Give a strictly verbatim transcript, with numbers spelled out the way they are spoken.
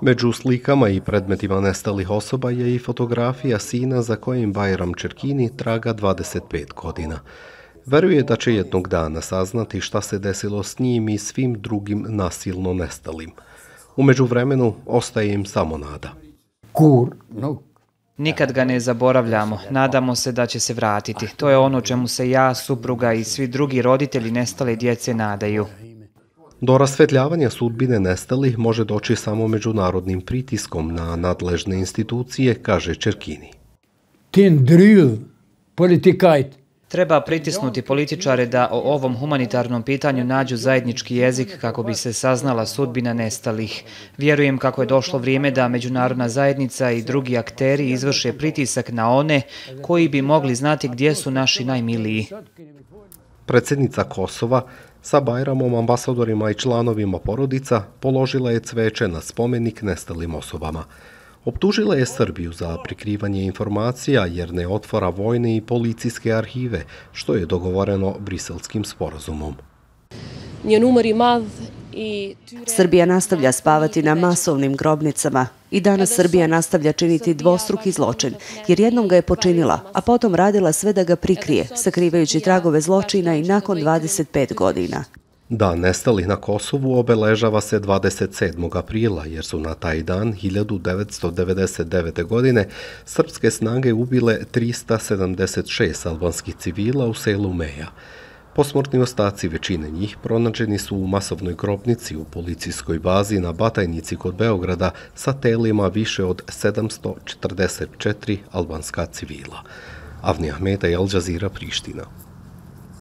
Među slikama i predmetima nestalih osoba je i fotografija sina za kojim Bajram Čerkini traga dvadeset pet godina. Veruje da će jednog dana saznati šta se desilo s njim i svim drugim nasilno nestalim. U međuvremenu ostaje im samo nada. Nikad ga ne zaboravljamo, nadamo se da će se vratiti. To je ono čemu se ja, supruga i svi drugi roditelji nestale djece nadaju. Do rasvetljavanja sudbine nestalih može doći samo međunarodnim pritiskom na nadležne institucije, kaže Čerkini. Treba pritisnuti političare da o ovom humanitarnom pitanju nađu zajednički jezik kako bi se saznala sudbina nestalih. Vjerujem kako je došlo vrijeme da međunarodna zajednica i drugi akteri izvrše pritisak na one koji bi mogli znati gdje su naši najmiliji. Predsjednica Kosova sa Bajramom, ambasadorima i članovima porodica položila je cveće na spomenik nestalim osobama. Optužila je Srbiju za prikrivanje informacija jer ne otvara vojne i policijske arhive, što je dogovoreno Briselskim sporazumom. Srbija nastavlja spavati na masovnim grobnicama i danas Srbija nastavlja činiti dvostruki zločin, jer jednom ga je počinila, a potom radila sve da ga prikrije, sakrivajući tragove zločina i nakon dvadeset pet godina. Dan nestalih na Kosovu obeležava se dvadeset sedmog aprila, jer su na taj dan hiljadu devetsto devedeset devete. godine srpske snage ubile trista sedamdeset šest albanskih civila u selu Meja. Posmrtni ostaci većine njih pronađeni su u masovnoj grobnici u policijskoj bazi na Batajnici kod Beograda sa telima više od sedamsto četrdeset četiri albanska civila. Avni Ahmeta i Al Jazeera, Priština.